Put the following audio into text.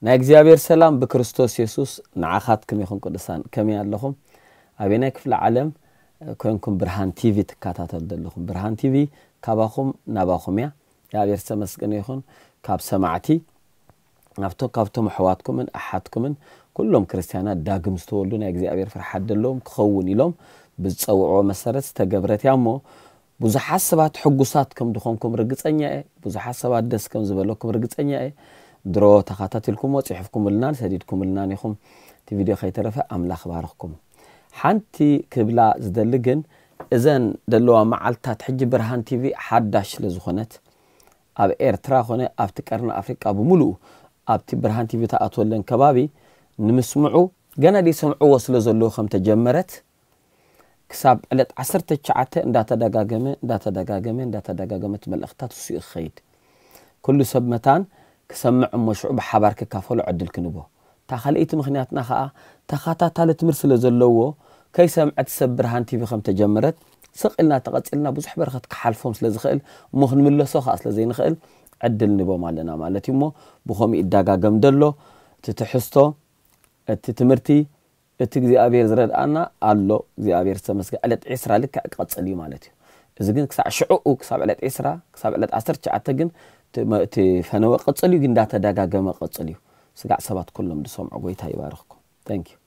ናይ እግዚኣብሔር ሰላም ብክርስቶስ የሱስ ንዓኻትኩም ይኹን። ቅዱሳን፣ ከመይ ኣለኹም? ኣበየናይ ክፍለ ዓለም ኮይንኩም ብርሃን ቲቪ ትከታተሉ ዘለኹም? ብርሃን ቲቪ ካባኹም ናባኹም እያ። እግዚኣብሔር ዝተመስገነ ይኹን። ካብ ሰማዕቲ ናብቶ ካብቶም ኣሕዋትኩምን ኣሓትኩምን ኩሎም ክርስትያናት ዳግም ዝተወልዱ ናይ እግዚኣብሔር ፍርሓት ዘለዎም ክኸውን ኢሎም ብዝጸውዕዎ መሰረት ዝተገብረት እያ እሞ ብዙሓት ሰባት ሕጉሳት ከም ዝኾንኩም ርግጸኛ እየ። ብዙሓት ሰባት ደስ ከም ዝበለኩም ርግጸኛ እየ። ድሮ ተኻታቲልኩሞ ጽሒፍኩምልናን ሰዲድኩምልናን ኢኹም። እቲ ቪድዮ ከይተረፈ ኣምላኽ ባርኽኩም። ሓንቲ ክብላ ዝደሊ ግን እዘን ዘለዋ መዓልታት ሕጂ ብርሃን ቲቪ ሓዳሽ ስለ ዝኾነት ኣብ ኤርትራ ኮነ ኣብቲ ቀርኒ ኣፍሪቃ ብምሉኡ ኣብቲ ብርሃን ቲቪ ተኣትወለን ከባቢ ንምስምዑ ገና ደይሰምዕዎ ስለ ዘለዉ ከም ተጀመረት ክሳብ ዕለት ዓሰርተ ትሽዓተ እንዳተደጋገመ እንዳተደጋገመ እንዳተደጋገመ እቲ መልእኽታት እሱ እዩ ክኸይድ። ኩሉ ሰብ መታን ክሰምዕ እሞ ሽዑ ብሓባር ክካፈሎ ዕድል ክንቦ። እታ ካልኣይቲ ምኽንያትና ኸኣ ተኸታታሊ ትምህርቲ ስለ ዘለዎ ከይሰምዐ እቲ ሰብ ብርሃን ቲቪ ከም ተጀመረት ስቕ ኢልና ተቐጺልና ብዙሕ በረኸት ክሓልፎም ስለ ዝኽእል እሞ ክንምለሶ ኸኣ ስለ ዘይንኽእል ዕድል ንቦም ኣለና ማለት እዩ። እሞ ብኸምኡ ይደጋገም ደሎ እቲ ትሕዝቶ እቲ ትምህርቲ እቲ እግዚኣብሔር ዝረድኣና ኣሎ እግዚኣብሔር ዝተመስገ ዕለት ዒስራ ልክዕ ክቐጽል እዩ ማለት እዩ። እዚ ግን ክሳዕ ሽዕኡ ክሳብ ዕለት ዒስራ ክሳብ ዕለት ዓሰርተ ትሽዓተ ግን እቲ መ- እቲ ፈነወ ቀጽል እዩ ግን እንዳተደጋገመ ቀጽል እዩ። ስጋዕ ሰባት ኩሎም ዝሰምዑ ጎይታ ይባርኽኩም። Thank you።